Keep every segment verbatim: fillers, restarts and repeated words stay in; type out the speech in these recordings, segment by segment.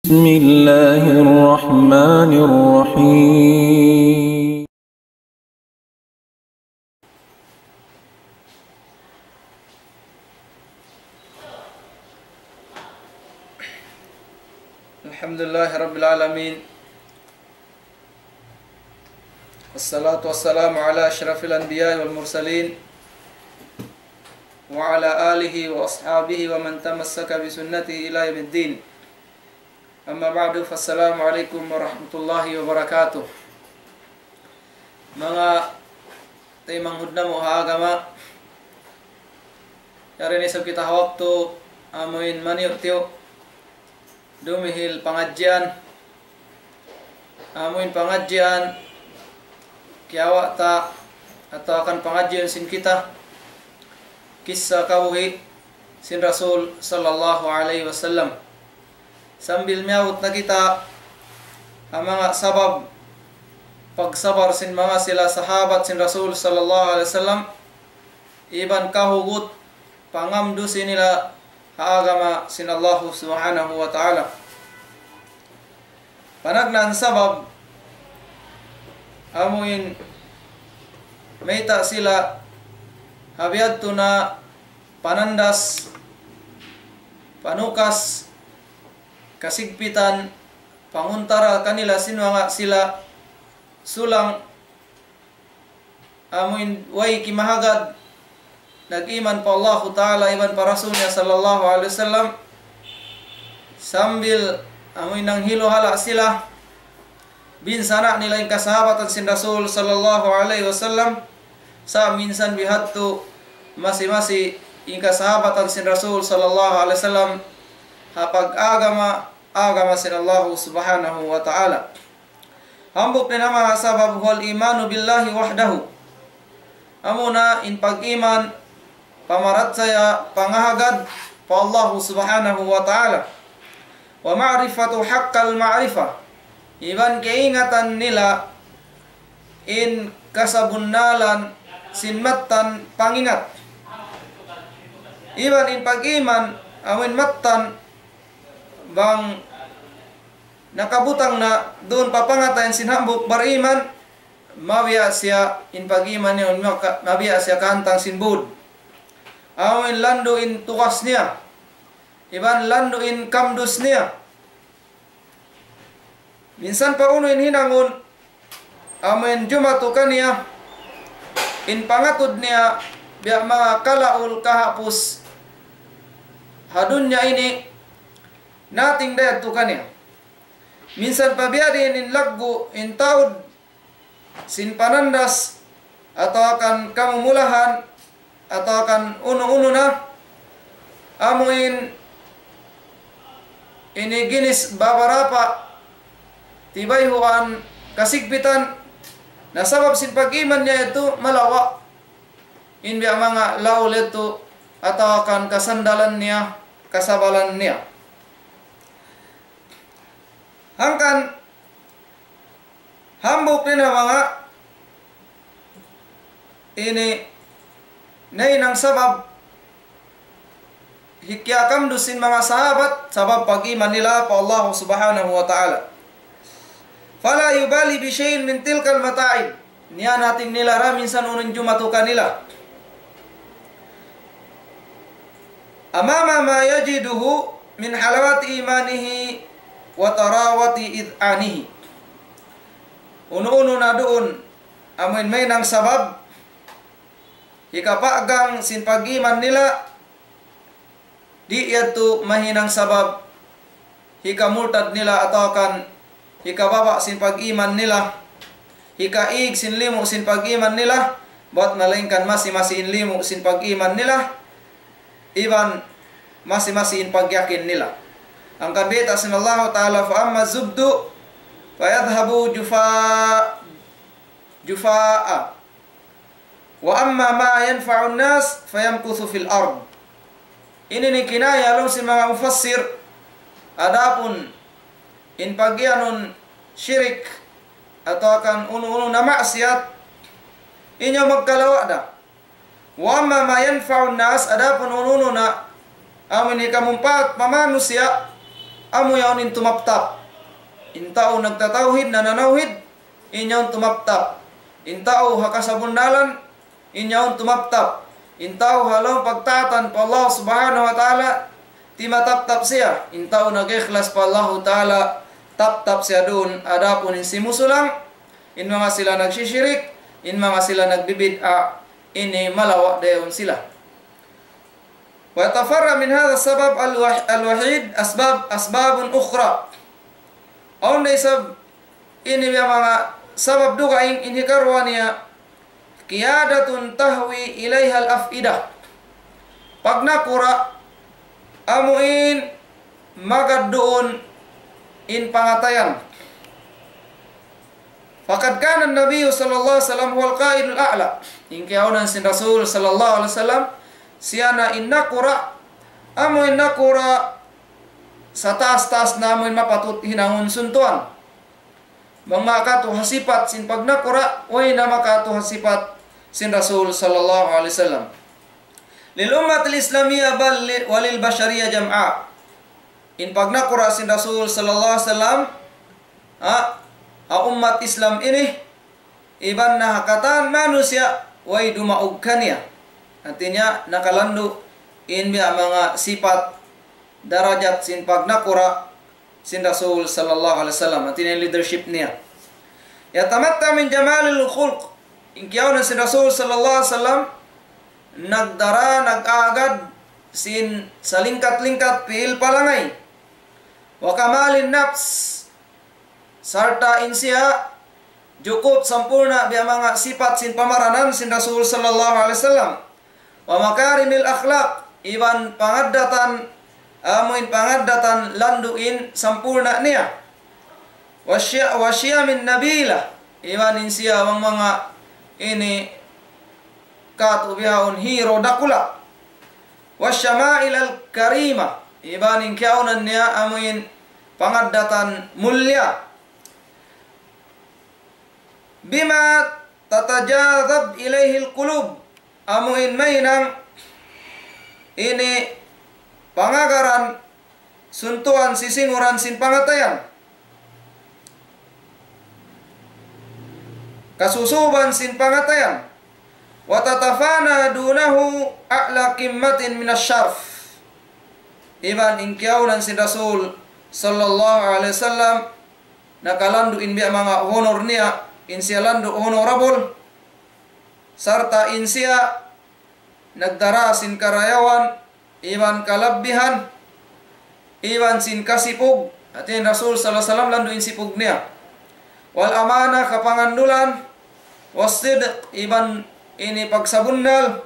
بسم الله الرحمن الرحيم. الحمد لله رب العالمين. والصلاة والسلام على أشرف الأنبياء والمرسلين وعلى آله وأصحابه ومن تمسك بسنته إلى يوم الدين. أما بعد، فالسلام عليكم ورحمة الله وبركاته. Manga taymanghud namu' ha agama, yari na isab kita ha waktu amuin maniyu'-tiyu' dumihil pangadjian, amuin pangadjian kiyawa' ta atawa kan pangadjian sin kita kissa kabuhi' sin Rasul sallallahu alayhi wasallam. Sambil miyabut na kita ha manga sabab pagsabar sin manga sila sahabat sin Rasul sallallahu alayhi wasallam, iban kahugut pangamdusi nila ha agama sin Allahu Subhanahu wa Ta'ala. Panagnaan sabab amuin mayta' sila ha biya' yadtu na panandas, panukas, kasigpitan, panguntara kanila sin manga sila sulang amuin way kimahagad, nag-iman pa Allahu Ta'ala iban pa Rasul niya sallallahu alayhi wasallam, sambil amuin nanghiluhala' sila, binsana' nila in kasahabatan sin Rasul sallallahu alayhi wasallam, sa' minsan bihadtu masi-masi in kasahabatan sin Rasul sallallahu alayhi wasallam ha pag-agama, agama sin Allahu Subhanahu wa Ta'ala. Hambuuk dayn ha manga sabab, هو الإيمان بالله وحده. Amuna in pag-iman, pamarachaya, pangahagad pa Allahu Subhanahu wa Ta'ala. ومعرفة حق المعرفة. Iban kaingatan nila in kasabunnalan sin mattan pangingat. Iban in pag-iman, amuin mattan bang nakabutang na duun pa pangatayan sin hambuuk bariman, mabiya' siya in pag-iman niya, maka-, mabiya' siya kahantang sin būd. Amuin landu' in tugas niya, iban landu' in kamdus niya. Minsan pa unu in hinangun, amuin jumatu kaniya in pangatud niya, biya' manga kalaul kahapus ha dunya ini, nating da yadtu kaniya. Minsan pa biya' diin in laggu', in taud sin panandas, atawa kan kamumulahan, atawa kan unu-unu na, amuin ini ginis babarapa tibayhuan kasigpitan, na sabab sin pag-iman niya yadtu malawa' in biya' manga laul yadtu, atawa kan kasandalan niya, kasabalan niya. Hangkan hambuuk dayn ha manga ini nahinang sabab hikiyakamdus sin manga sahabat, sabab pag-iman nila pa Allah Subhanahu wa Ta'ala. فلا يبالي بشيء من تلك المتاعب. Niyanating nila ra minsan unu in jumatu kanila. أمام ما يجده من حلاوة إيمانه وطراوة إذعانه. Unu-unu na duun, amuin mahinang sabab hikapagang sin pag-iman nila, di' yadtu mahinang sabab hikamurtad nila atawa kan hikababa' sin pag-iman nila, hikaig sin limu' sin pag-iman nila, bat malaingkan masi-masi in limu' sin pag-iman nila, iban masi-masi in pagyakin nila. Hangkan bayta' sin Allahu Ta'ala, فأما الزبد فيذهب جفاء، جفاء، وأما ما ينفع الناس فيمكث في الأرض. Ini in kinaya laung sin manga mufassir, adapun in pagiyanun shirik atawa kan unu-unu na maksiyat, in yan magkalawa' da. وأما ما ينفع الناس, adapun unu-unu na amun hikamumpaat pa manusiya', amu yaun in tumaptap. In tau nagtatawhid, nananawhid, in yaun tumaptap. In tau ha kasabunnalan, in yaun tumaptap. In tau ha lawm pagtaatan pa Allah Subhanahu wa Ta'ala, timataptap siya. In tau nag-ikhlas pa Allahu Ta'ala, taptap siya duun. Adapun in simusulang, in manga sila nagsishirik, in manga sila nagbibid'a, ini malawa' dayaun sila. ويتفرع من هذا السبب الوح-، الوحيد أسباب، أسباب أخرى. Awn da isab ini biya' manga sabab dugaing in hikaruwa niya, قيادة تهوي إليها الأفئدة. Pagnakura', amu in magad duun in pangatayan. فقد كان النبي صلى الله عليه وسلم هو القائد الأعلى. In kiyaunan sin Rasul sallallahu alayhi wasallam, siya na in nakura', amu in nakura' sataas-taas na amu in mapatut hinangun suntuan. Bang makatu ha sipat sin pagnakura', way na makatu ha sipat sin Rasul sallallahu alayhi wasallam. للأمة الإسلامية بل وللبشرية جمعاء. In pagnakura' sin Rasul sallallahu alayhi wasallam, ha, ha ummat Islam ini, iban na ha katan manusiya', way dumaug kaniya. Hāti niya, nakalandu' in biya' manga sipat darajat sin pagnakura' sin Rasul sallallahu alayhi wasallam. Hāti niya leadership niya. يتمتع من جمال الخلق. In kiyaunan sin Rasul sallallahu alayhi wasallam, nagdara, nag-agad sin salingkat-lingkat pi'il palangay. وكمال النفس. Sarta' in siya jukup sampurna' biya' manga sipat sin pamaranan sin Rasul sallallahu alayhi wasallam. ومكارم الأخلاق, iban pangaddatan, amuin pangaddatan landu' in sampurna' niya. وشي-، وشيم نبيلة, iban in siya bang manga ini katu' bihaun hero dakula'. والشمائل الكريمة, iban in kiyaunan niya amuin pangaddatan mulia. بما تتجاذب إليه القلوب, amuin mahinang ini pangagaran suntuan sisinguran sin pangatayan. Kasusuban sin pangatayan. وتتفانى دونه أعلى قمة من الشرف. Iban in kiyaunan sin Rasul sallallahu alayhi wasallam, nakalandu' in biya' manga honor niya, in siya landu' honorable, sarta' in siya nagdara sin karayawan, iban kalabbihan, iban sin kasipug. Hāti in Rasul sallallahu alayhi wasallam landu' in sipug niya. والأمانة, kapangandulan, والصدق, iban ini pagsabunnal,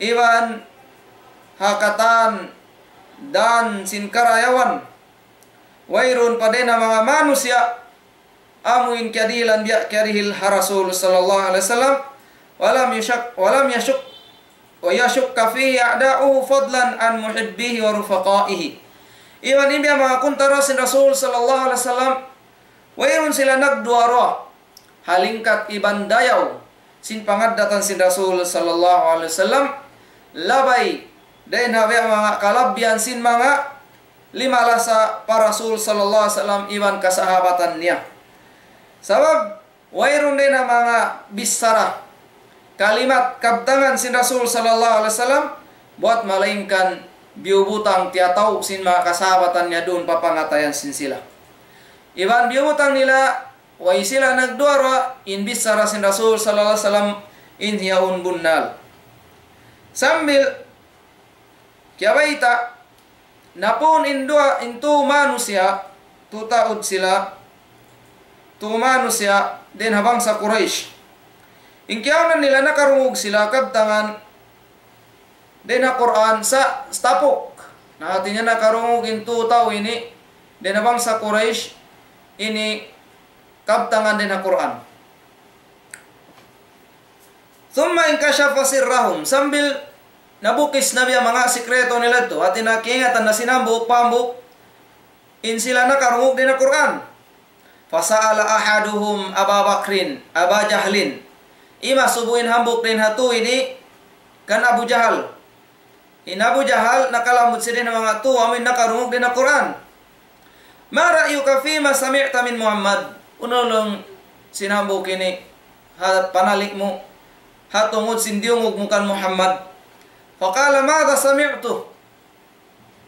iban ha katan dan sin karayawan. Wayruun pa dayn ha manga manusiya' amuin kiyadihilan biya' kiyadihil ha Rasul sallallahu alayhi wasallam. ولم يشك، ولم يشك، ويشك فيه أعداؤه فضلا عن محبيه ورفقائه. Iban in biya' manga kuntara sin Rasul sallallahu alayhi wasallam, wayruun sila nagduwa-ruwa ha lingkat iban dayaw sin pangaddatan sin Rasul sallallahu alayhi wasallam, labay dayn ha biya' manga kalabbihan sin manga limalasa pa Rasul sallallahu alayhi wasallam iban kasahabatan niya. Sabab wayruun dayn ha manga bichara, kalimat, kabtangan sin Rasul sallallahu alayhi wasallam, buwat malaingkan biyubutang tiyataw sin manga kasahabatan niya duun pa pangatayan sin sila. Iban biyubutang nila, way sila nagduwa-ruwa, in bichara sin Rasul sallallahu alayhi wasallam in yaun bunnal. Sambil kiyabayta', napun in duwa, in tū manusiya', tū taud sila, tū manusiya' dayn ha bangsa Quraysh. In kiyaunan nila nakarungug sila kabtangan dayn ha Qur'an sa' tapuk. Na hāti niya nakarungug in tū tau ini dayn ha bangsa Quraysh ini kabtangan dayn ha Qur'an. ثم انكشف سرهم, sambil nabukis na biya' manga sikreto nila yadtu, hāti niya kiyaingatan na sin hambuuk pa hambuuk in sila nakarungug dayn ha Qur'an. فسأل أحدهم أبا بكر، أبا جهل. Imasubu in hambuuk dayn ha tū ini kan Abu Jahal. In Abu Jahal nakalamud siya dayn ha manga tū amuin nakarungug dayn ha Qur'an. ما رأيك فيما سمعت من محمد؟ Unu laung sin hambuuk ini ha panali' mu, ha tungud sin diyungug mu kan Muhammad. فقال: ماذا سمعت؟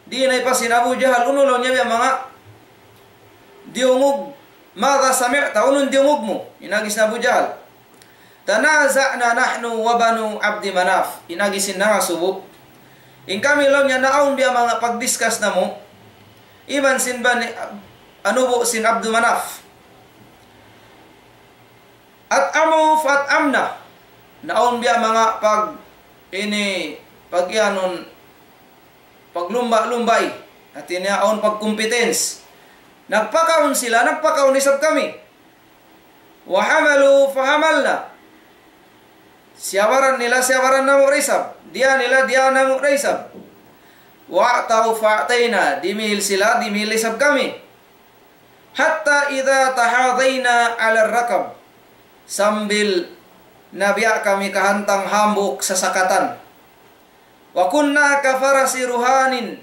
Di' na ipasin Abu Jahal, unu laung niya biya' manga diyungug. ماذا سمعت؟ Unu in diyungug mu? In agi sin Abu Jahal. تنازعنا نحن وبنو عبد مناف. In agi sin nangasubu. In kami laung niya naawn biya' manga pag-discuss namu'. Iban sin bani, anubu' sin Abdu Manaf. أطعموا فأطعمنا. Naawn biya' manga pag-, ini, pag-iyanun, paglumba-lumbay. Hati niya awn pag-competence. Nagpakaun sila, nagpakaun isab kami. وحملوا فحملنا. Siyabaran nila, siyabaran namu' da isab. Diyā nila, diyā namu' da isab. وأعطوا فأعطينا. Dimihil sila, dimihil isab kami. حتى إذا تحاضينا على الركب. Sambil na biya' kami kahantang hambuuk sasakatan. وكنا كفرس رهان.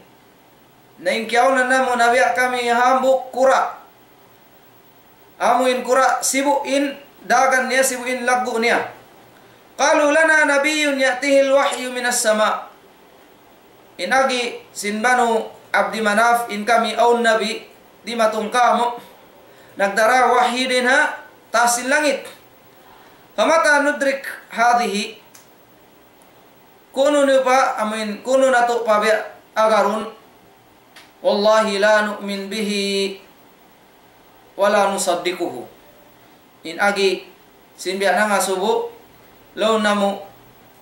Na in kiyaunan namu' na biya' kami hambuuk kura'. Amu in kura' sibu' in dagan niya, sibu' in laggu' niya. قالوا لنا نبي يأتيه الوحي من السماء. In agi sin Banu Abdi Manaf, in kami awn nabi dimatung kāmu'. Nagdara wahyi dayn ha taas sin langit. فمتى ندرك هذه؟ Kunu niyu pa, amuin, kunu natu' pa biya' agarun. والله لا نؤمن به ولا نصدقه. In agi, sin biya' nangasubu, laung namu',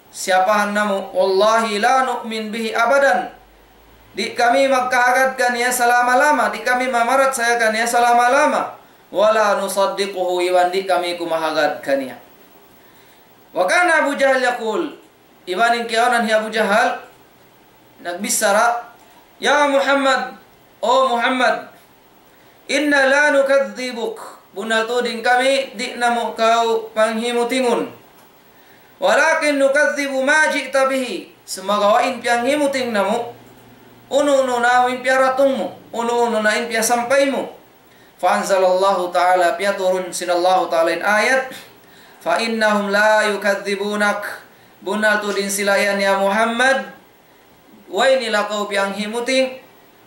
siyapahan namu', والله لا نؤمن به أبدا. Di' kami magkahagad kaniya salama-lama, di' kami mamarachaya kaniya salama-lama. ولا نصدقه, iban di' kami kumahagad kaniya. وكان أبو جهل يقول, iban in kiyaunan hi Abu Jahal, nagbichara, يا محمد, O Muhammad, إنا لا نكذبك, bunnal tuud in kami, di' namu' kaw panghimutingun. ولكن نكذب ما جئت به, sumagawa' in piyanghimuting namu', unu-unu na in piyaratung mu, unu-unu na in piyasampay mu. فأنزل الله تعالى, piyaturun sin Allahu Ta'ala in ayat, فإنهم لا يكذبونك, bunnal tuud in sila yan ya Muhammad, way nila kaw piyanghimuting,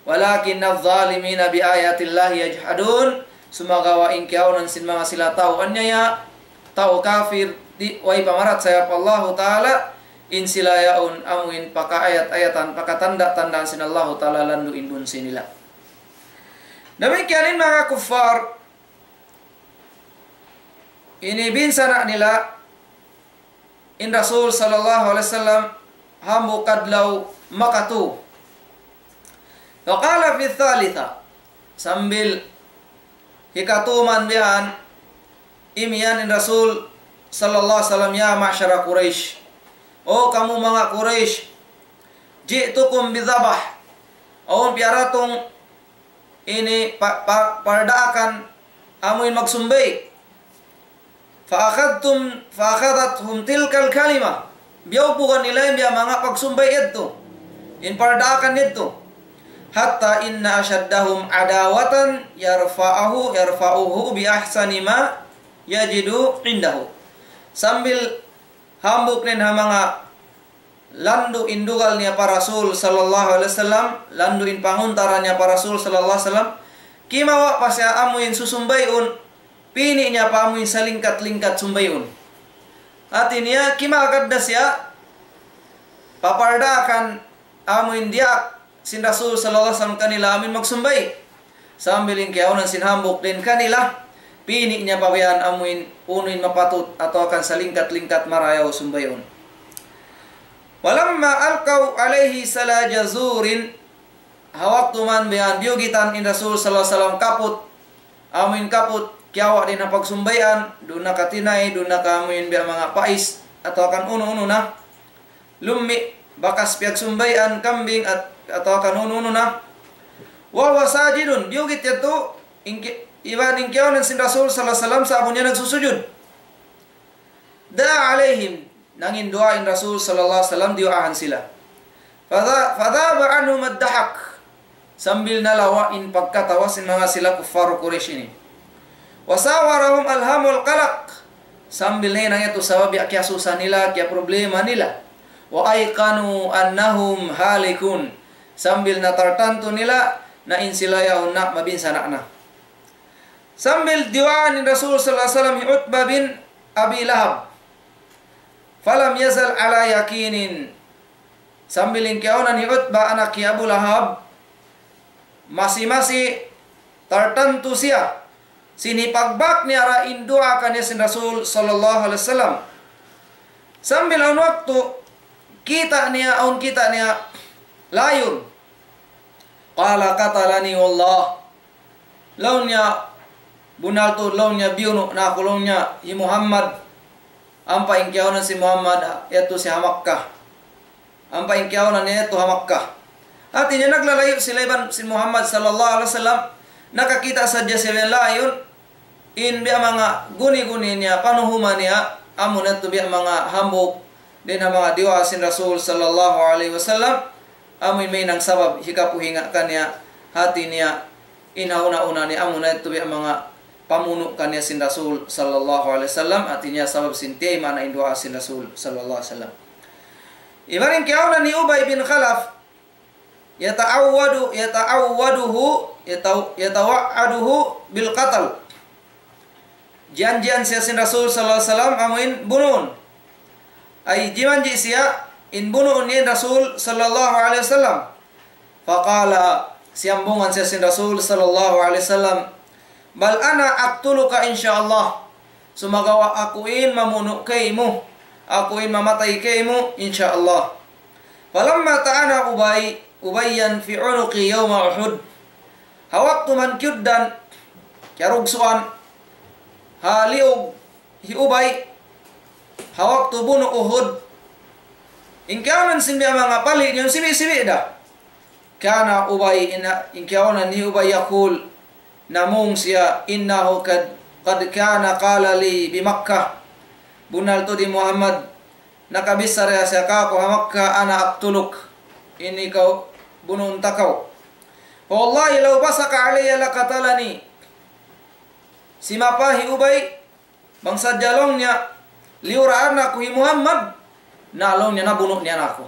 ولكن الظالمين بآيات الله يجحدون, sumagawa' in kiyaunan sin manga sila tau anyaya, tau kafir, di' way pamarachaya pa Allahu Ta'ala, in sila yaun amuin pakaayat-ayatan, pakatanda'-tandaan sin Allahu Ta'ala landu' in bunsi nila. Damikkiyan in manga kuffar, ini binsana' nila in Rasul sallallahu alayhi wasallam hambuuk adlaw makatu. فقال في الثالثة, sambil hikatu man bihan, imiyan in Rasul sallallahu alayhi wasallam, يا معشر قريش, O kamu manga Quraysh, جئتكم بذبح, awn piyaratung ini pa-, pa-, pardaakan amuin magsumbay. فأخذتم، فأخذتهم تلك الكلمة. Biyugbugan nila in biya' manga pagsumbay yadtu, in pardaakan yadtu. حتى إن أشدهم عداوة يرفعه، يرفعه بأحسن ما يجد عنده. Sambil hambuuk na in ha manga landu' in dugal niya pa Rasul sallallahu alayhi wasallam, landu' in panguntara niya pa Rasul sallallahu alayhi wasallam, kimawa' pa siya amuin susumbayun, pini' niya pa amuin salingkat-lingkat sumbayun. Hati niya, kimagad na siya, papardaakan amuin diyaak sin Rasul sallallahu alayhi wasallam kanila amuin magsumbay. Sambil in kiyaunan sin hambuuk dayn kanila, pini' niya pa bihan amuin unu in mapatut atawa kan salingkat-lingkat marayaw sumbayun. ولما ألقوا عليه سلاج زور, ha waktu man bihan biyugitan in Rasul sallallahu alayhi wasallam kaput, amuin kaput, kiyawa' dayn ha pagsumbayan, duun na katinay, duun na ka amuin biya' manga pais, atawa kan unu-unu na. Lummi', bakas piyagsumbayan, kambing, at-, atawa kan unu-unu na. وهو ساجد, biyugit yadtu, in ki-, iban in kiyaunan sin Rasul sallallahu alayhi wasallam sa'bu niya nagsusujud. دعا عليهم, nangin duwaa in Rasul sallallahu alayhi wasallam, diyuwaahan sila. فذا-، فذاب عنهم الضحك. Sambil nalawa' in pagkatawa sin manga sila kuffar Quraysh ini. وساورهم الهم والقلق. Sambil nahinang yadtu sabab ya kiyasusa nila, kiyaproblema nila. وأيقنوا أنهم هالكون. Sambil na tartantu nila na in sila yaun na mabinsana' na. Sambil diyuwaan in Rasul sallallahu alayhi wasallam hi Utbah bin Abi Lahab. فلم يزل على يقين. Sambil in kiyaunan hi Utbah anak hi Abu Lahab, masi-masi tartantu siya sin hipagbak niya ra in duwaa kaniya sin Rasul sallallahu alayhi wasallam. Sambil awn waktu kita' niya, awn kita' niya layun. قال قتلني والله. Laung niya, bunnal tuud laung niya, biyunu' na aku laung niya hi Muhammad. Ampa in kiyaunan sin Muhammad yadtu siya ha Makkah. Ampa in kiyaunan niya yadtu ha Makkah. Hati niya naglalayu' sila iban sin Muhammad sallallahu alayhi wasallam. Nakakita' sadja siya biya' layun. In biya' manga guni-guni niya, panuhuma niya, amu na yadtu biya' manga hambuuk dayn ha manga diyuwaa sin Rasul sallallahu alayhi wasallam. Amu in mahinang sabab hikapuhinga' kaniya, hati niya, in ha una-una niya amu na yadtu biya' manga pamunu' kaniya sin Rasul sallallahu alayhi wasallam, hati niya sabab sin tiyayma' na in duwaa sin Rasul sallallahu alayhi wasallam. Iban in kiyaunan hi Ubay bin Khalaf, يتعود، يتعوده، يتو-، يتوعده بالقتل. Janjian siya sin Rasul sallallahu alayhi wasallam amu in bunuun. Ay, jimanji' siya in bunuun niya in Rasul sallallahu alayhi wasallam. فقال, siyambungan siya sin Rasul sallallahu alayhi wasallam, بل أنا أقتلك إن شاء الله. Sumagawa' aku in mamunu' kaymu, aku in mamatay kaymu, insya Allah. فلما طعن أبي، أبيا في عنقه يوم أحد. Ha waktu man kiyugdan, kiyarugsuan, ha liyug hi Ubay, ha waktu bunu' Uhud, in kiyaunan sin biya' manga pali' niya sibi'-sibi' da. كان أبي, in, in kiyaunan hi Ubay يقول, namung siya, إنه قد، قد كان قال لي بمكة. Bunnal tuud hi Muhammad, nakabichara siya kāku' ha Makkah, أنا أقتلك. In ikaw, bunuun ta kaw. فوالله لو بصق علي لقتلني. Simapa hi Ubay, bang sadja laung niya, liyuraan aku hi Muhammad, na laung niya nabunu' niya na aku.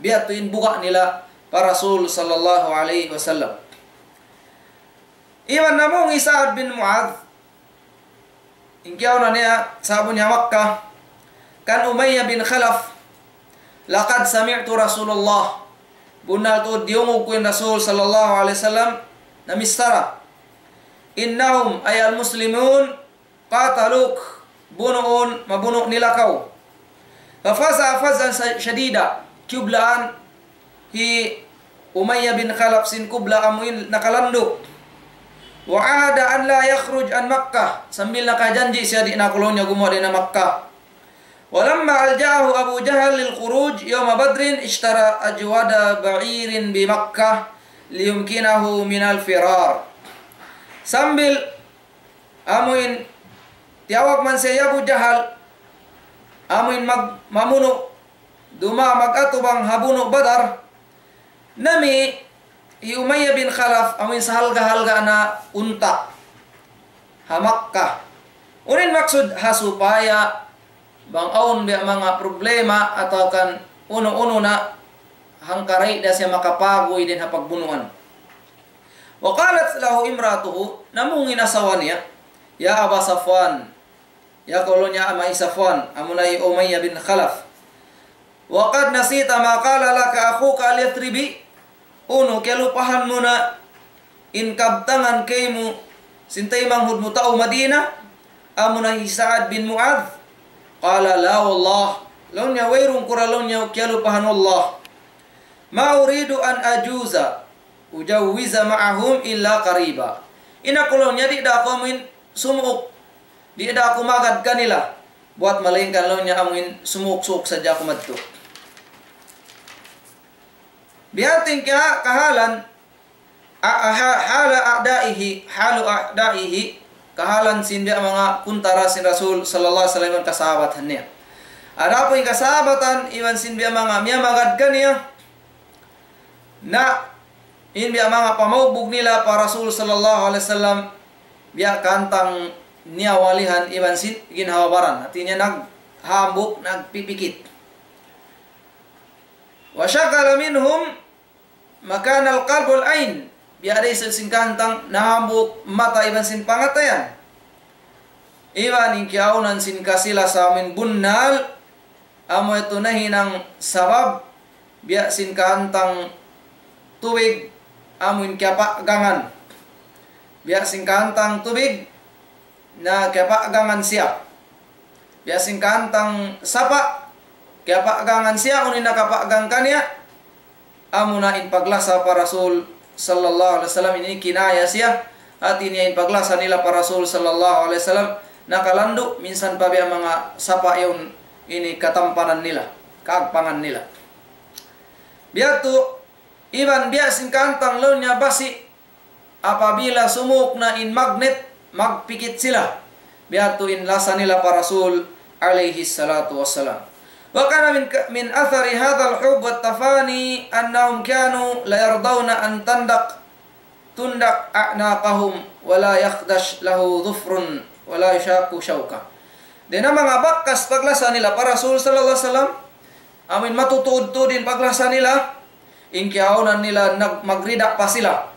Biya' tu in buga' nila pa Rasul sallallahu alayhi wasallam. Iban namung hi Sa'ad bin Mu'adh, in kiyaunan niya, sa'bu niya Makkah, kan Umayyah bin Khalaf, لقد سمعت رسول الله. Bunnal tuud diyungug ku in Rasul sallallahu alayhi wasallam, namichara. إنهم، أي المسلمون، قاتلوك، bunuun, mabunu' nila kaw. ففزع فزعا ش-، شديدا. Kiyublaan hi Umayyah bin Khalaf sin kubla amu in nakalanduk. وعاهد أن لا يخرج عن مكة. Sambil nakajanji' siya di' na kunu' niya gumuwa' dayn ha Makkah. ولما ألجأه أبو جهل للخروج يوم بدر اشترى أجود بعير بمكة ليمكنه من الفرار. Sambil amu in tiyawag man siya hi Abu Jahal, amu in mag-, mamunu', duma mag-atubang ha bunu' Badar, nami' hi Umayyah bin Khalaf, amu in sahalga'-halga' na unta' ha Makkah. Unu in maksud? Ha supaya bang awn biya' manga problema atawa kan unu-unu na, hangkaray da siya makapaguy dayn ha pagbunuan. وقالت له امرأته, namung in asawa niya, يا أبا صفوان, ya kaw laung niya ama' hi Safwan, amuna hi Umayyah bin Khalaf. وقد نسيت ما قال لك أخوك اليثربي. Unu, kiyalupahan mu na in kabtangan kaymu sin taymanghud mu tau Madina, amuna hi Sa'ad bin Mu'adh? قال لا والله. Laung niya, wayruun ku ra laung niya kiyalupahan, wallah. ما أريد أن أجوز أجوز معهم إلا قريبا. In aku laung niya, di' da aku amuin sumuuk, di' da aku magad kanila, buwat malaingkan laung niya amuin sumuuk-suuk sadja aku madtu. Biya' ha yan in kahalan, a-, a-, ha-, حال أعدائه، حال أعدائه, kahalan sin biya' manga kuntara sin Rasul sallallahu alayhi wasallam iban kasahabatan niya. Adapun in kasahabatan iban sin biya' manga miyamagad kaniya, na In biya' manga pamaugbug nila pa Rasul sallallahu alayhi wasallam, biya' kantang niyawalihan iban sin ginhawa-baran. Hati niya naghambuuk, nagpipikit. وشغل منهم مكان القلب والعين. Biya' da isab sin kantang nahambuuk mata iban sin pangatayan. Iban in kiyaunan sin kasilasa amuin bunnal, amu yadtu nahinang sabab, biya' sin kantang tubig, amuin kiyapaggangan. Biya' sin kantang tubig, na kiyapaggangan siya. Biya' sin kantang sapa', kiyapaggangan siya, unu in nakapaggang kaniya, amuna in paglasa pa Rasul sallallahu alayhi wasallam, ini kinaya siya, hati niya in paglasa nila pa Rasul sallallahu alayhi wasallam, nakalandu', minsan pa biya' manga sapa' yaun ini katampanan nila, kaagpangan nila. Biya' tu, iban biya' sin kantang laung niya basi', apabila sumuuk na in magnet, magpikit sila. Biya' tu in lasa nila pa Rasul alayhi salatu wassalam. وكان من ك-، من أثر هذا الحب والتفاني أنهم كانوا لا يرضون أن تندق، تندق أعناقهم ولا يخدش له ظفر ولا يشاق شوكة. Dayn ha manga bakas paglasa nila pa Rasul sallallahu alayhi wasallam, amuin matutuud-tuud in paglasa nila, in kiyaunan nila nag-, magrida pa sila.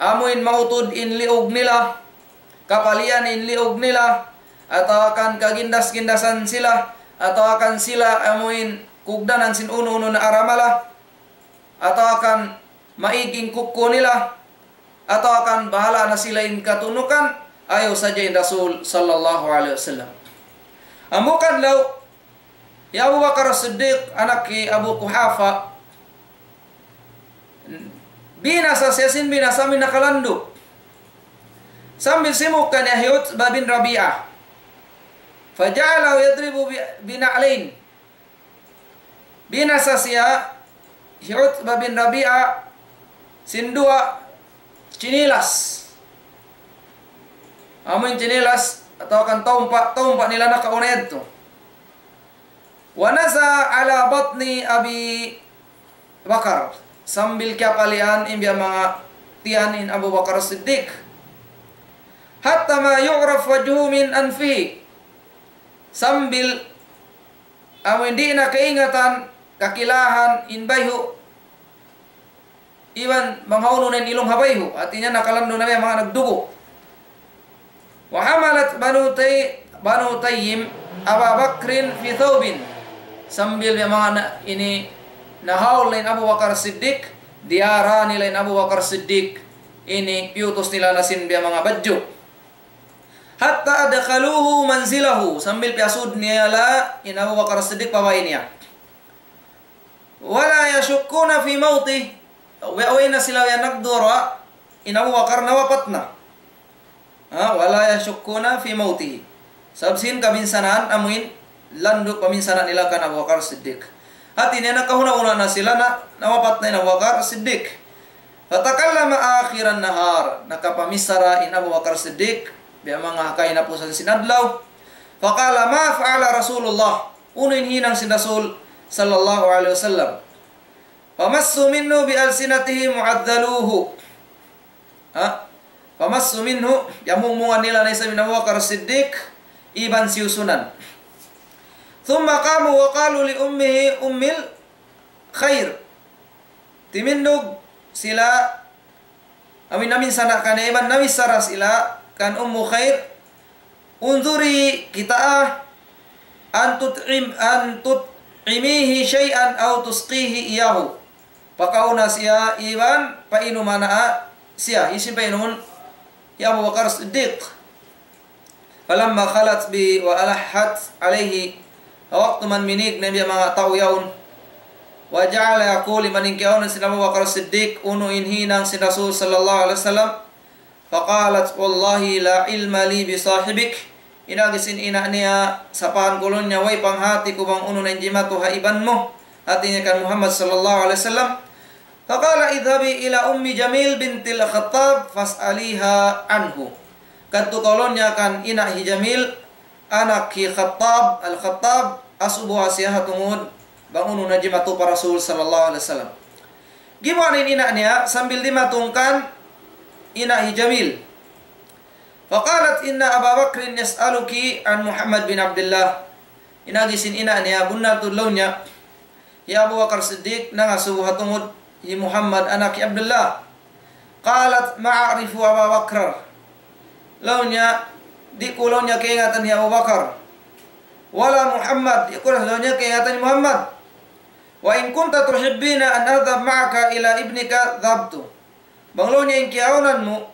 Amuin mautud in liug nila, kapalian in liug nila, atawa kan kagindas-gindasan sila, atawa kan sila amuin kugdanan sin unu-unu na aramala, atawa kan maig in kuku nila, atawa kan bahala' na sila in katunukan, ayaw sadja in Rasul sallallahu alayhi wasallam. Amu kadlaw, hi Abu Bakar As-Siddiq, anak hi Abu Quhafa, binasa siya sin binasa amuin nakalandu'. Sambil simuuk kaniya hi Utbah bin Rabi'ah. فجعله يضرب ب-، بنعلين. Binasa siya hi Utbah bin Rabi'ah sin duwa chinilas. Amuin chinilas atawa kan taumpa', taumpa' nila nakauna yadtu. ونزع على بطن أبي بكر. Sambil kiyapalian in biya' manga tiyan in Abu Bakar Siddiq. حتى ما يعرف وجهه من أنفه. Sambil amuin di' na kaingatan, kakilahan in bayhu'. Iban bang hawnu na in ilung ha bayhu', hati niya nakalandu' na biya' manga nagdugu'. وحملت بنو تي-، بنو تيم أبا بكر في ثوب. Sambil biya' manga na-, ini nahaul na in Abu Bakar Siddiq, diyara nila in Abu Bakar Siddiq, ini piyutus nila na sin biya' manga badju'. حتى أدخلوه منزله, sambil piyasud nila in Abu Bakar Siddiq pa bay niya. ولا يشكون في موته. Way, way na sila yan nagdura, in Abu Bakar nawapat na. Ha, ولا يشكون في موته. Sabab sin kabinsanaan amuin landu' paminsanaan nila kan Abu Bakar Siddiq. Hati niya nakahuna-huna na sila na nawapat na in Abu Bakar Siddiq. فتكلم آخر النهار. Nakapamichara in Abu Bakar Siddiq, biya' manga kahinapusan sin adlaw. فقال: ما فعل رسول الله؟ Unu in hinang sin Rasul sallallahu alayhi wasallam? فمصوا منه بألسنتهم وعذلوه. Ha? فمصوا منه, yamungmungan nila na isab in Abu Bakar Siddiq, iban siyusunan. ثم قاموا وقالوا لأمه أم الخير. Timindug sila, amuin naminsana' kaniya iban namichara sila kan Ummu Khair, انظري, kitaa, أن تطعم-، أن تطعميه شيئا أو تسقيه إياه. Pakauna siya iban painuma na siya. Hisiyu in painumun? Hi Abu Bakar Siddiq. فلما خلت به وألحت عليه, ha waktu man minig na in biya' manga tau yaun. وجعل يقول, iban in kiyaunan sin Abu Bakar Siddiq, unu in hinang sin Rasul sallallahu alayhi wasallam. فقالت: والله لا علم لي بصاحبك. In agi sin ina' niya, sapahan ku laung niya, way panghati ku bang unu na in jimatu ha iban mu. Hati niya kan Muhammad sallallahu alayhi wasallam. فقال: اذهبي إلى أم جميل بنت الخطاب فاسأليها عنه. Kadtu kaw laung niya kan ina' hi Jamil, anak hi Khattab, Al-Khattab, asubuha siya ha tungud bang unu na jimatu pa Rasul sallallahu alayhi wasallam. Gimuwa' na in ina' niya sambil dimatung kan ina' hi Jamil. فقالت إن أبا بكر يسألك عن محمد بن عبد الله. In agi sin ina' niya, bunnal tuud laung niya, hi Abu Bakar Siddiq nangasubu ha tungud hi Muhammad anak hi Abdullah. قالت ما أعرف أبا بكر. Laung niya, di' ku laung niya kaingatan hi Abu Bakar. ولا محمد, di' ku laung niya kaingatan hi Muhammad. وإن كنت تحبين أن أذهب معك إلى ابنك ذهبت. Bang laung niya in kiyaunan mu,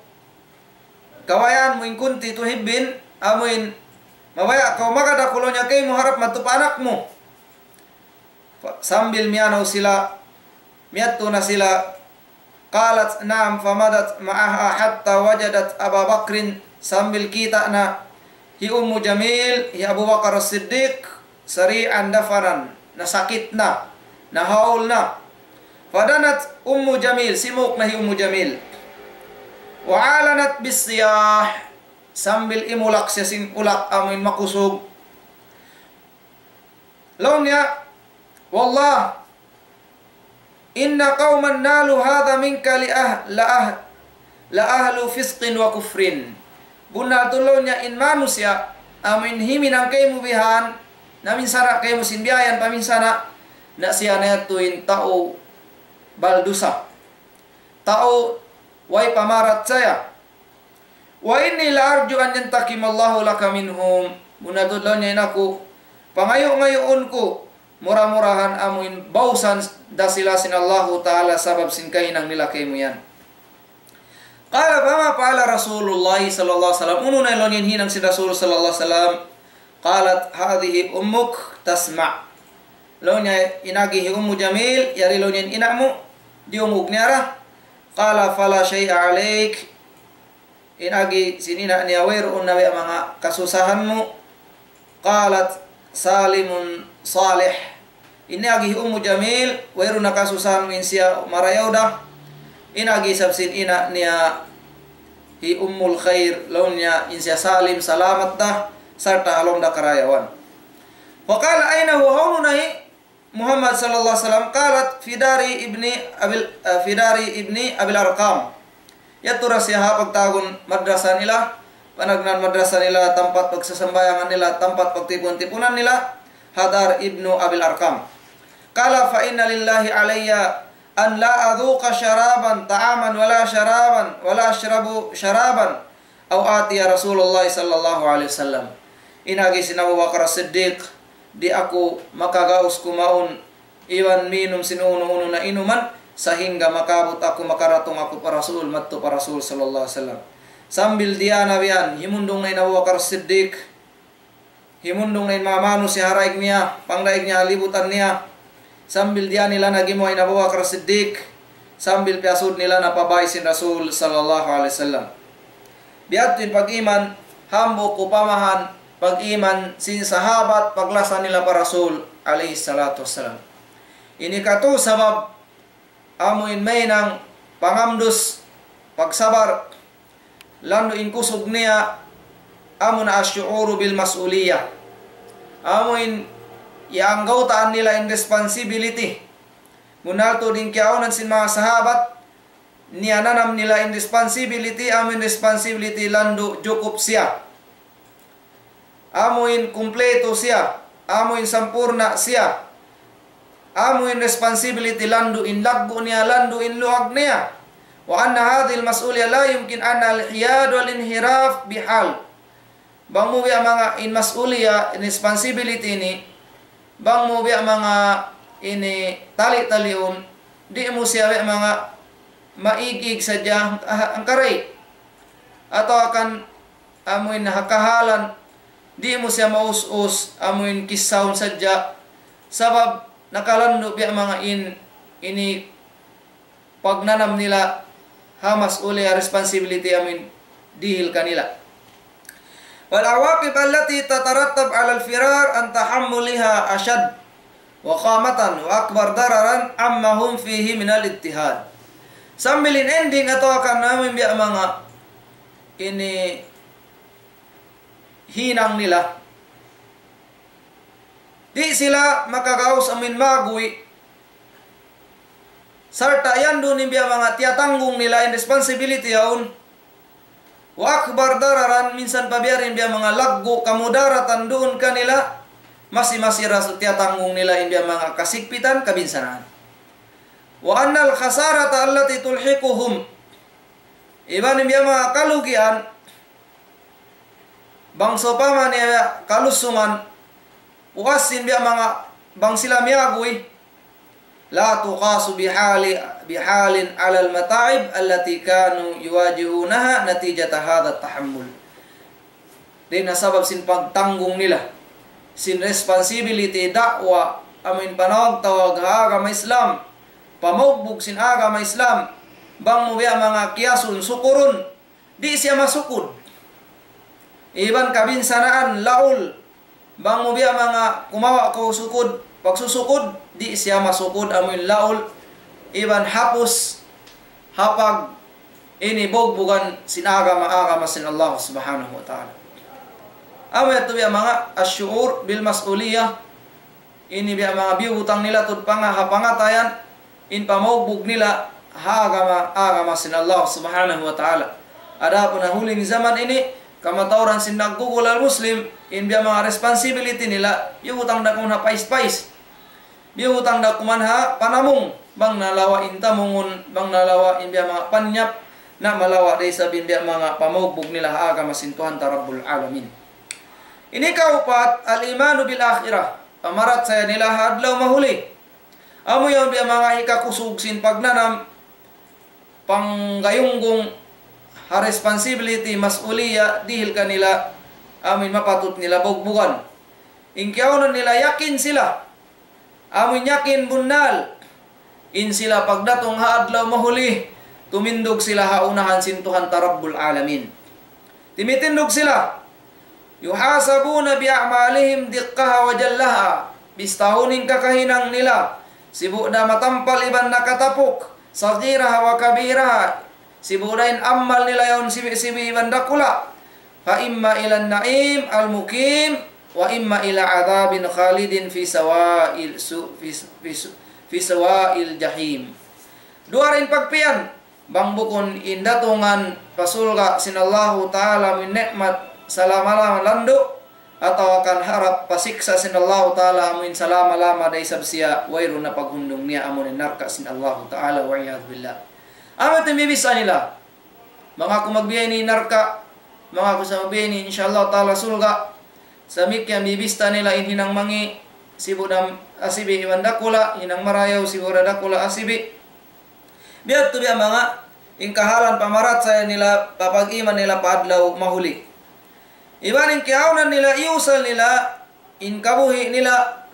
kabayaan mu, إن كنت تحبين, amuin mabaya' kaw magad aku laung niya kaymu harap madtu pa anak mu. Fa-, sambil miyanaw sila, miyadtu na sila. قالت نعم فمضت معها حتى وجدت أبا بكر, sambil kita' na hi Ummu Jamil, hi Abu Bakar As-Siddiq, سريعا دفنا, nasakit na, nahaul na. فدنت أم جميل, simuk na hi Ummu Jamil. وأعلنت بالصياح, sambil imulak siya sin ulak amuin makusug. Laung niya, والله إن قوما نالوا هذا منك لأه-، لأه-، لأهل فسق وكفر. Bunnal tuud laung niya in manusiya' amuin himinang kaymu bihan, naminsana' kaymu sin biya' yan paminsana', na siya na yadtu in tau baldusa, tau way pamarachaya. وإني لأرجو أن ينتقم الله لك منهم. Bunnal tuud laung niya in aku, pangayu'-ngayuun ku, mura-murahan amuin bausan da sila sin Allahu Ta'ala sabab sin kahinang nila kaymu yan. قال فما فعل رسول الله صلى الله عليه وسلم. Unu na laung niya in hinang sin Rasul sallallahu alayhi wasallam. قالت هذه أمك تسمع. Laung niya in agi hi Ummu Jamil, yari laung niya in ina' mu, diyungug niya ra. قال فلا شيء عليك. In agi sin ina' niya, wayruun na biya' manga kasusahan mu. قالت سالم صالح. In agi hi Ummu Jamil, wayruun na kasusahan mu, in siya marayaw da. In agi isab sin ina' niya hi Ummul Khair, laung niya in siya salim, salamat da, sarta' ha lawm da karayawan. فقال أين هو, hawnu na hi Muhammad sallallahu alayhi wasallam? قالت في دار ابن أبي ال-، في دار ابن أبي الأرقم. Yadtu da siya ha pagtawagun madrasa nila, panagnaan madrasa nila, tampat pagsasambahayangan nila, tampat pagtipun-tipunan nila, ha dar Ibnu Abil Arkam. قال فإن لله علي أن لا أذوق شرابا، طعاما ولا شرابا، ولا أشرب شرابا، أو آتي رسول الله صلى الله عليه وسلم. In agi sin Abu Bakar As-Siddiq, di' aku makagaus kumaun iban minum sin unu-unu na inuman, sahingga makaabut aku, makaratung aku pa Rasul, madtu pa Rasul sallallahu alayhi wasallam. Sambil diyā na biyan, himundung na in Abu Bakar Siddiq, himundung na in manga manusiya' ha daig niya, pangdaig niya, libutan niya. Sambil diyā nila na gimuwa' in Abu Bakar Siddiq, sambil piyasud nila na pa bāy sin Rasul sallallahu alayhi wasallam. Biya' ha yan in pag-iman, hambuuk upamahan pag-iman sin sahabat paglasa nila pa Rasul alayhi salatu wassalam. Ini katu' sabab amu in mahinang pangamdus, pagsabar, landu' in kusug niya, amu na الشعور بالمسؤولية. Amu in iyanggawtaan nila in responsibility. Bunnal tuud in kiyaunan sin manga sahabat, niyananam nila in responsibility, amu in responsibility landu' jukup siya. Amu in kumpleto siya, amu in sampurna' siya, amu in responsibility landu' in laggu' niya, landu' in luag niya. وأن هذه المسؤولية لا يمكن أن الحياد والانحراف بحال. Bang mu biya' manga in mas'uliyah, in responsibility ini, bang mu biya' manga ini tali-taliun, di' mu siya biya' manga maig-ig sadja, ah, hangkaray. Atawa kan amuin ha kahalan, di' mu siya maus-us, amuin kissahun sadja. Sabab nakalandu' biya' manga in, ini pagnanam nila ha mas'uliyah, responsibility amuin dihil kanila. والعواقب التي تترتب على الفرار عن تحملها أشد وخامة وأكبر ضررا عما هم فيه من الاضطهاد. Sambil in ending atawa kan amuin biya' manga ini hinang nila. Di' sila makagaus amuin maguy' Sarta' yan duun in biya' manga tiyatanggung nila in responsibility yaun. وأكبر ضررا, minsan pa biya' diin biya' manga laggu' kamudaratan duun kanila, masi-masi ra sa' tiyatanggung nila in biya' manga kasigpitan, kabinsanaan. وأن الخسارة التي تلحقهم, iban in biya' manga kalugian, bang sawpama niya kalusungan, puas sin biya' manga bang sila miyaguy, لا تقاس بحال، بحال على المتاعب التي كانوا يواجهونها نتيجة هذا التحمل. Dayn ha sabab sin pagtanggung nila sin responsibility da'wa, amuin panawag-tawag ha agama Islam, pamaugbug sin agama Islam, bang mu biya' manga kiyasun, sukurun, di' siya masukud. Iban kabinsanaan, laul, bang mu biya' manga kumawa' kaw sukud, pagsusukud, di' siya masukud, amuin laul, iban hapus, ha pag ini bugbugan sin agama, agama sin Allah Subhanahu wa Ta'ala. Amu yadtu biya' manga الشعور بالمسؤولية, ini biya' manga biyutang nila tuud panga-, ha pangatayan, in pamaugbug nila ha agama, agama sin Allah Subhanahu wa Ta'ala. Adapun ha huli ni jaman ini, kamatauran sin naggugul al-Muslim, in biya' manga responsibility nila, biyutang da kuman ha pais-pais. Biyutang da kuman ha panamung, bang nalawa' in tamungun, bang nalawa' in biya' manga panyap, na malawa' da isab in biya' manga pamaugbug nila ha agama sin Tuhan ta Rabbul Alamin. Ini kaupat, الإيمان بالآخرة, pamarachaya nila ha adlaw mahuli. Amu yan biya' manga hikakusug sin pagnanam, panggayunggung ha responsibility, mas'uliya, dihil kanila, amuin mapatut nila bugbugan. In kiyaunan nila yakin sila, amuin yakin bunnal, in sila pagdatung ha adlaw mahuli, tumindug sila ha unahan sin Tuhan ta Rabbul Alamin. Timitindug sila. يحاسبون بأعمالهم دقها وجلها. Bistahun in kakahinang nila, sibu' da matampal iban nakatapuk, صغيرها وكبيرها. Sibu' da in amal nila yaun sibi'-sibi' iban dakula'. فإما إلى النعيم المقيم وإما إلى عذاب خالد في سواء ال-، سو-، في س-، في س-، في سواء الجحيم. Duwa ra in pagpiyan, bang bukun in datungan pa surga' sin Allahu Ta'ala amuin ni'mat salama-lama landu', atawa kan harap pa siksa' sin Allahu Ta'ala amuin salama-lama da isab siya, wayruun na paghundung niya amuin narka' sin Allahu Ta'ala, والعياذ بالله. Amu yadtu in bibisa nila. Bang aku magbiya' ini narka', bang aku sa' magbiya' ini, insya Allah Ta'ala surga'. Samikyan bibista nila in hinang mangi', sibu' da asibi' iban dakula', hinang marayaw, sibu' da dakula' asibi'. Biya' yadtu biya' manga, in kahalan pamarachaya nila, papag-iman nila pa adlaw mahuli. Iban in kiyaunan nila, iyusal nila, in kabuhi' nila,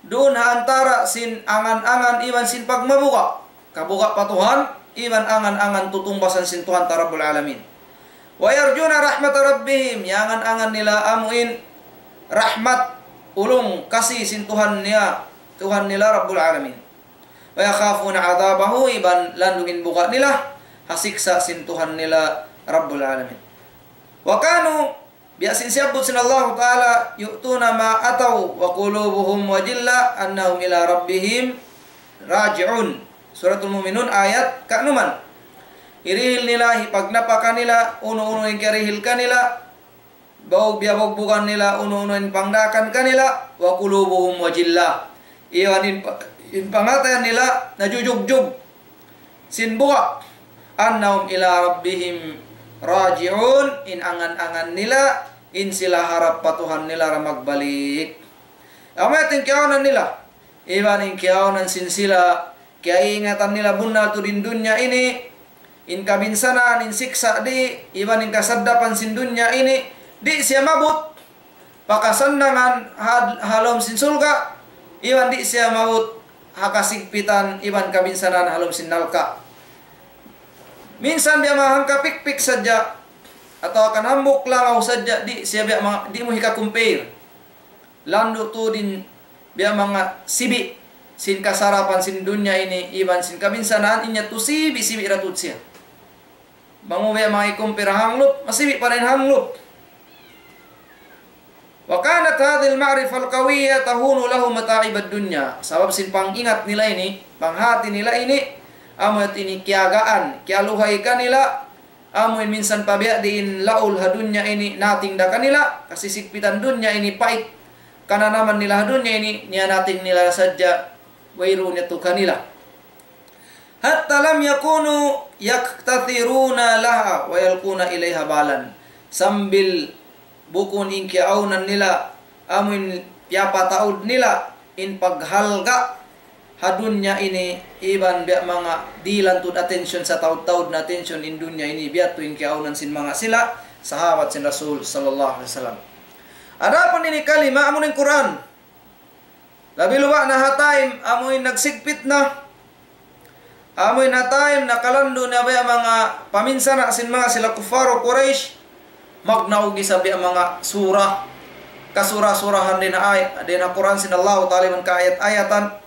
duun ha antara' sin angan-angan iban sin pagmabuga'. Kabuga' pa Tuhan, iban angan-angan tutungbasan sin Tuhan ta Rabbul Alamin. ويرجون رحمة ربهم, iyangan-angan nila amuin rahmat, ulung, kasi sin Tuhan niya, Tuhan nila Rabbul Alamin. ويخافون عذابه, iban landu' in buga' nila ha siksa' sin Tuhan nila Rabbul Alamin. وكانوا, biya' sin siyabbut sin Allahu Ta'ala, يؤتون ما آتوا وقلوبهم وجلة أنهم إلى ربهم راجعون. Suratul Mu'minun ayat kanuman. Hirihil nila, hipagnapaka nila, unu-unu in kiyarihil kanila, bau-, biyabugbugan nila, unu-unu in pangdaakan kanila, وقلوبهم وجلة. Iban in pa-, in pangatayan nila, najujugjug sin buga'. أنهم إلى ربهم راجعون, in angan-angan nila, in sila harap pa Tuhan nila ra magbalik. Amu yadtu in kiyaunan nila. Iban in kiyaunan sin sila, kiyaingatan nila bunnal tuud in dunya ini, in kabinsanaan, in siksa' di, iban in kasaddapan sin dunya ini, di' siya maabut pa kasannangan ha, ha lawm sin surga', iban di' siya maabut ha kasigpitan iban kabinsanaan ha lawm sin narka'. Minsan biya' manga hangkapikpik sadja, atawa kan hambuuk langaw sadja, di' siya biya' manga, di' mu hika-compare. Landu' tuud in biya' manga sibi' sin kasarapan sin dunya ini, iban sin kabinsanaan, in yadtu sibi'-sibi' ra tuud siya. Bang mu biya' manga i-compare ha hanglup, masibi' pa dayn ha hanglup. وكانت هذه المعرفة القوية تهون لهم متاعب الدنيا. Sabab sin pangingat nila ini, panghati nila ini, amu yadtu ini kiyagaan, kiyaluhay kanila, amu in minsan pa biya' diin laul ha dunya ini nating da kanila, kasisigpitan dunya ini pait, kananaman nila ha dunya ini, niya nating nila sadja, wayruun yadtu kanila. حتى لم يكونوا يقتثرون لها ويلقون إليها بالا. Sambil bukun in kiyaawnan nila, amu in piyapataud nila, in paghalga' ha dunya ini, iban biya' manga dihilan tuud attention, sataud-taud na attention in dunya ini, biya' tu in kiyaawnan sin manga sila, sahabat sin Rasul sallallahu alayhi wasallam. Adapun ini kalima, amu in Qur'an. Labi luba' na ha time, amu in nagsigpit na. Amu in ha time, nakalandu' na biya' manga paminsana' sin manga sila kuffaru Quraysh. Magnaug isab biya' manga sura. Kasura-surahan dayn ha ay-, dayn ha Qur'an sin Allahu Ta'ala iban kaayat-ayatan.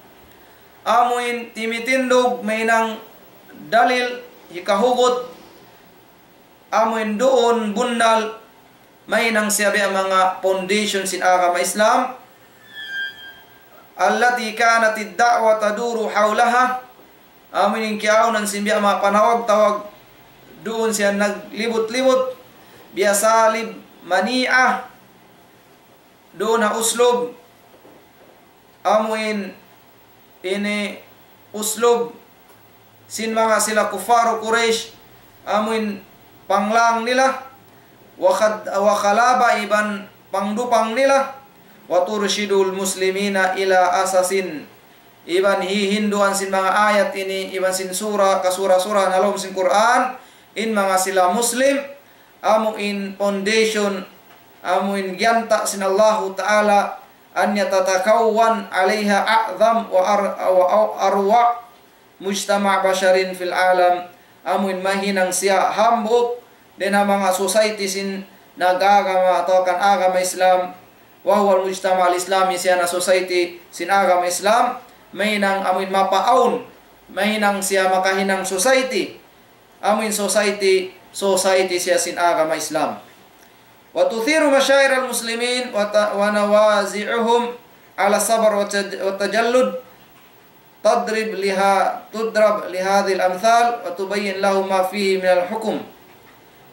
Amu in timitindug, mahinang dalil, hikahugut. Amu in duun bunnal, mahinang siya biya' manga foundation sin agama Islam. التي كانت الدعوة تدور حولها. Amu in kiyaawnan sin biya' manga panawag-tawag, duun siya naglibut-libut. بأساليب منيعة. Duun ha uslub. Amu in ini uslub sin manga sila kuffaru Quraysh, amu in panglang nila, wa khad-, wa khalaba iban pangdupang nila, وترشد المسلمين إلى أساس, iban hihinduan sin manga ayat ini, iban sin sura, kasura-sura na lawm sin Qur'an, in manga sila Muslim, amu in foundation, amu in giyanta' sin Allahu Ta'ala, أن يتكون عليها أعظم وأر-، وأروع مجتمع بشري في العالم, amu in mahinang siya hambuuk dayn ha manga society sin nag-agama atawa kan agama Islam, وهو المجتمع الإسلامي, siya na society sin agama Islam, mahinang amu in mapaawn, mahinang siya makahinang society, amu in society, society siya sin agama Islam. وتثير مشاعر المسلمين وت-، ونوازعهم على الصبر والتج-، والتجلد تضرب لها، تضرب لهذه الأمثال وتبين لهم ما فيه من الحكم.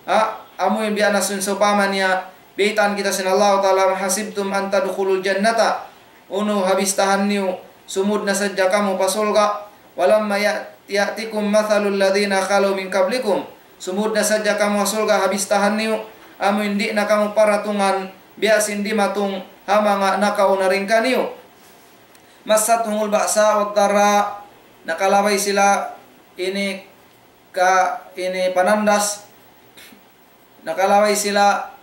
Ha, amu in biya' na sin sawpama niya, biyaytaan kita sin Allahu Ta'ala, أم حسبتم أن تدخلوا الجنة. Unu ha bistahan niyu, sumud na sadja kamu pa surga'. ولما يأت-، يأتكم مثل الذين خلوا من قبلكم. Sumud na sadja kamu ha surga' ha bistahan niyu, amu in di' na kamu paratungan, biya' sin dimatung ha manga nakauna dayn kaniyu. مستهم البأساء والضراء. Nakalabay sila ini ka-, ini panandas. Nakalabay sila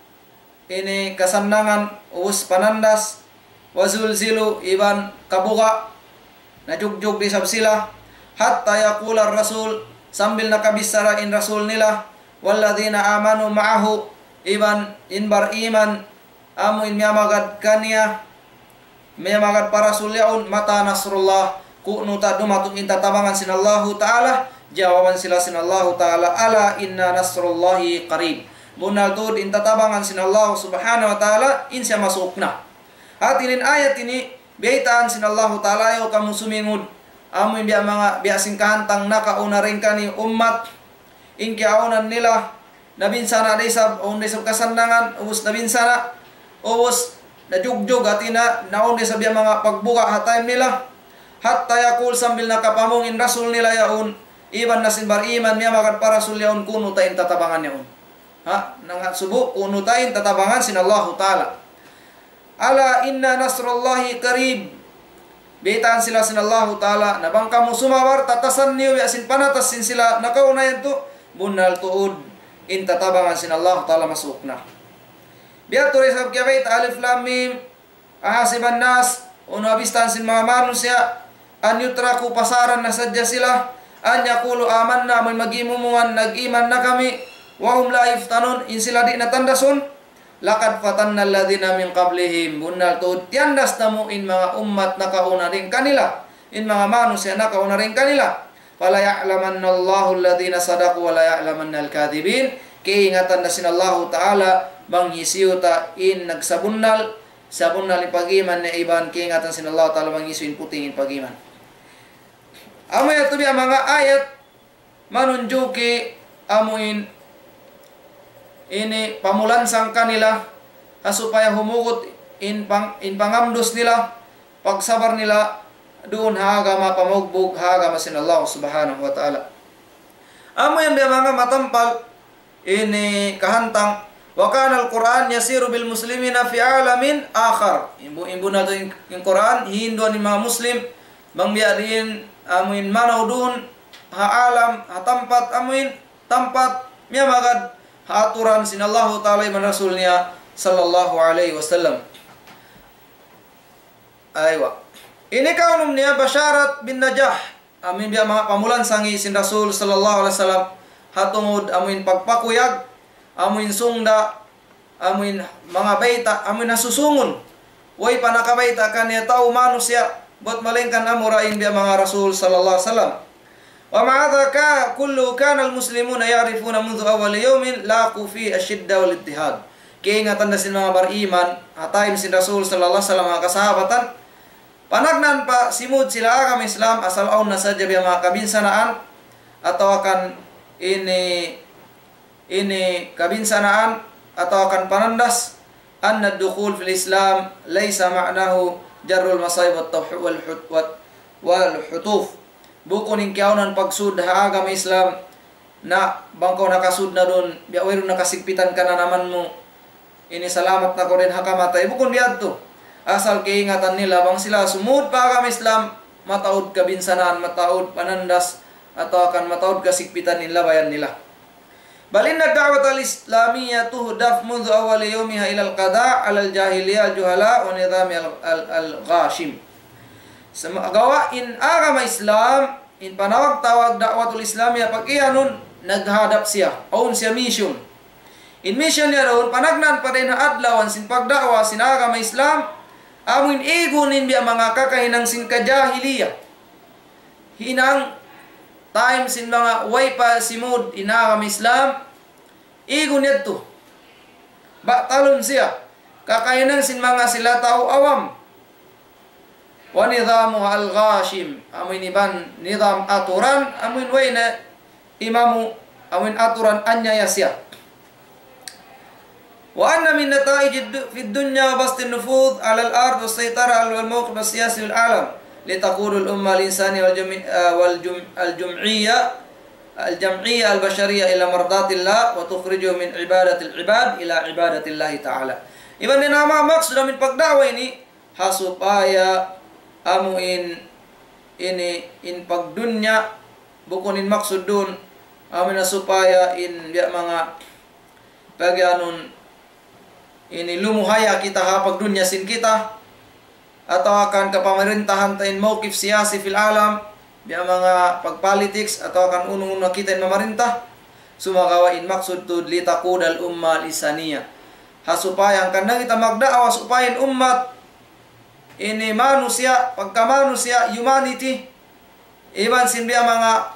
ini kasannangan, ubus panandas, وزلزلوا, iban kabuga', najugjug da isab sila, حتى يقول الرسول, sambil nakabichara in Rasul nila, والذين آمنوا معه, iban in bariman, amu in miyamagad kaniya, miyamagad pa Rasul yaun, متى نصر الله, ku'nu ta dumatung in tatabangan sin Allahu Ta'ala, jawaban sila sin Allahu Ta'ala, ألا إن نصر الله قريب. Bunnal tuud in tatabangan sin Allah Subhanahu wa Ta'ala, in siya masuuk na. Hati niya in ayat ini, biyaytaan sin Allahu Ta'ala, ayaw kamu sumingud, amu in biya' manga, biya' sin kahantang nakauna dayn kaniyu ummat, in kiyaawnan nila, nabinsana' da isab, awn da isab kasannangan, ubus nabinsana', ubus najugjug, hati niya, naawn da isab biya' manga pagbuga' ha time nila. حتى يقول, sambil nakapamung in Rasul nila yaun, iban na sin bariman, miyamagad pa Rasul yaun, ku'nu ta in tatabangan yaun. Ha, nangasubu, ku'nu ta in tatabangan sin Allahu Ta'ala. ألا إن نصر الله قريب. Biyaytaan sila sin Allahu Ta'ala, na bang kamu sumabar, tatasan niyu biya' sin panatas sin sila nakauna yadtu, bunnal tuud in tatabangan sin Allahu Ta'ala masuuk na. Biya' tuud isab kiyabayta', ألف لام ميم. أحسب الناس, unu ha bistahan sin manga manusiya', أن يتركوا, pasaran na sadja sila, أن يقولوا آمنا, amun mag-imumungan, nag-iman na kami, وهم لا يفتنون, in sila di' na tandasun. لقد فتنا الذين من قبلهم, bunnal tuud tiyandas namu' in manga ummat nakauna dayn kanila, in manga manusiya' nakauna dayn kanila. فليعلمن الله الذين صدقوا وليعلمن الكاذبين. Kaingatan da sin Allahu Ta'ala bang hisiyu ta in nagsabunnal, sabunnal in pag-iman niya, iban kaingatan sin Allahu Ta'ala bang hisiyu in puting in pag-iman. Amu yadtu biya' manga ayat manunjuki amuin ini pamulansang kanila, ha supaya humugut in pang-, in pangamdus nila, pagsabar nila duun ha agama pamugbug, ha agama sin Allah Subhanahu wa Ta'ala. Amu yan biya' manga matampal ini kahantang, وكان القرآن يسير بالمسلمين في عالم آخر. Imbu-, imbu na tu in, in Qur'an, hinduan in manga Muslim, bang biya' diin amuin manaw duun ha alam, ha tampat amuin, tampat miyamagad ha aturan sin Allahu Ta'ala iban Rasul niya sallallahu alayhi wasallam. Aywa. Ini kaunum niya basharat bin najah. Amuin biya' manga pamulansangi sin Rasul sallallahu alayhi wasallam. Ha tungud amuin pagpakuyag, amuin sungda, amuin manga bayta', amuin ha susungun. Way pa nakabayta' kaniya tau manusiya', bat malaingkan amura in biya' manga Rasul sallallahu alayhi wasallam. ومع هذا كا-، كله كان المسلمون يعرفون منذ أول يوم لاقوا فيه الشدة والاضطهاد. Kaingatan da sin manga bariman, ha time sin Rasul sallallahu alayhi wasallam, manga kasahabatan, panagnaan pa simud sila agama Islam, asal awn na sadja biya' manga kabinsanaan, atawa kan ini, ini kabinsanaan, atawa kan panandas, أن الدخول في الإسلام ليس معناه جر المصائب والتوح-، والحت-، والحتوف. Bukun in kiyaunan pagsud ha agama Islam, na bang kaw nakasud na duun, biya' wayruun nakasigpitan kananaman mu, ini salamat na kaw dayn ha kamatay. Bukun biya' yadtu. Asal kaingatan nila bang sila sumud pa agama Islam, mataud kabinsanaan, mataud panandas, atawa kan mataud kasigpitan in labayan nila. بل إن الدعوة الإسلامية تهدف منذ أول يومها إلى القضاء على الجاهلية الجهلاء ونظام ال-، ال-، الغاشم. Sumagawa' in agama Islam, in panawag-tawag da'watul Islamiyah pag-iyanun, naghadap siya, awn siya mission. In mission niya duun, panagnaan pa dayn ha adlawan sin pagda'wa sin agama Islam, amuin igun in biya' manga kakahinang sin kajahiliya. Hinang time sin manga way pa simud in agama Islam, igun yadtu. Batalun siya. Kakahinang sin manga sila tau awam. ونظامها الغاشم. Amuin iban nizam aturan, amuin way na imamu, amuin aturan anyaya siya. وأن من نتائج الد-، في الدنيا بسط النفوذ على الأرض والسيطرة على الموقف السياسي في العالم لتقود الأمة الإنسانية والجم-، آه، والجم-، الجمعية، الجمعية البشرية إلى مرضاة الله وتخرجه من عبادة العباد إلى عبادة الله تعالى. Iban in ama maksud amuin pagda'wa ini, ha supaya amuin ini in pagdunya, bukun in maksud duun, amuin ha supaya in biya' manga pagiyanun ini lumuhaya kita ha pagdunya sin kita, atawa kan kapamarintahan ta in mawqif siyasi fil alam, biya' manga pagpolitics, atawa kan unu-unu kita in mamarinta, sumagawa' in maksud tuud لتقود الأمة الإنسانية. Ha supaya hangkan na kita magda'wa supaya in ummat ini manusiya', pagka manusiya', humanity, iban sin biya' manga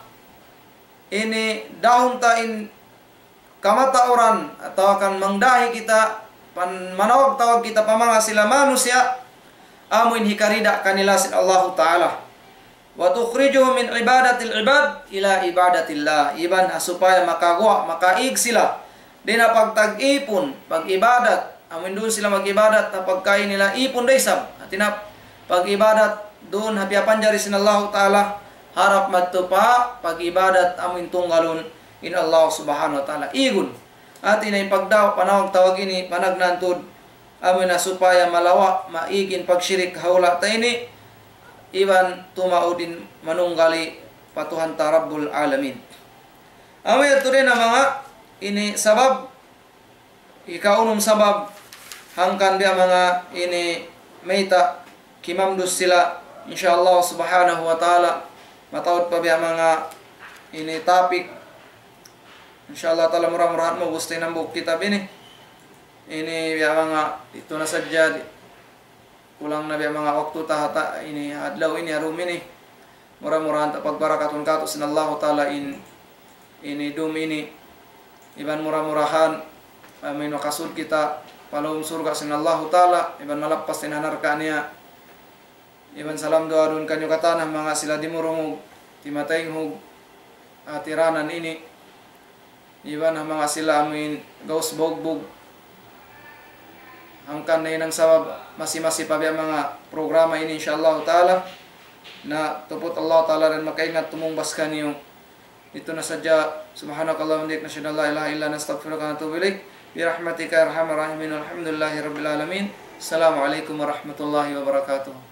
ini dahun ta in kamatauran atawa kan mangdahi kita, pan-, manawag-tawag kita pa manga sila manusiya', amuin hikarida kanila sin Allahu Ta'ala. وتخرجه من عبادة العباد إلى عبادة الله. Iban ha supaya makaguwa', makaig sila dayn ha pagtag-ipun, pag-ibadat, amuin duun sila mag-ibadat, ha pagkahi nila ipun da isab. Hati niya, pag-ibadat duun ha piyapanjari sin Allahu Ta'ala, harap madtu pa pag-ibadat amuin tunggalun in Allah Subhanahu wa Ta'ala. Igun. Hati niya in pagdaw-, panawag-tawag ini, panagnaan tuud, amuin ha supaya malawa', maig in pagshirik ha hula' ta ini, iban tumaud in manunggali pa Tuhan ta Rabbul Alamin. Amu yadtu dayn ha manga ini sabab, ikaunum sabab, hangkan biya' manga ini mayta' kimamdus sila, insya Allah Subhanahu wa Ta'ala, mataud pa biya' manga ini topic. Insya Allah Ta'ala, mura-murahan maubus ta in hambuuk kitab ini. Ini biya' manga itu na sadja di-, kulang na biya' manga waktu ta ha ta-, ini adlaw ini, ha dum ini. Mura-murahan ta pagbarakatun katu' sin Allahu Ta'ala in, ini dum ini. Iban mura-murahan, amuin makasud kita pa lawm surga' sin Allahu Ta'ala, iban malappas sin ha narka' niya. Iban salam duwaa duun kaniyu katan ha manga sila dimurungug, timataynghug, hatiranan ini, iban ha manga sila amuin gaus bugbug. Hangkan na in sabab masi-masi pa biya' manga programa ini, insya Allah ta'ala. Na tuput Allah ta'ala dayn makaingat tumungbas kaniyu. Itu na sadja. سبحانك اللهم وبحمدك، نشهد أن لا إله إلا أنت، نستغفرك ونتوب إليك. برحمتك يا أرحم الراحمين. والحمد لله رب العالمين. السلام عليكم ورحمة الله وبركاته.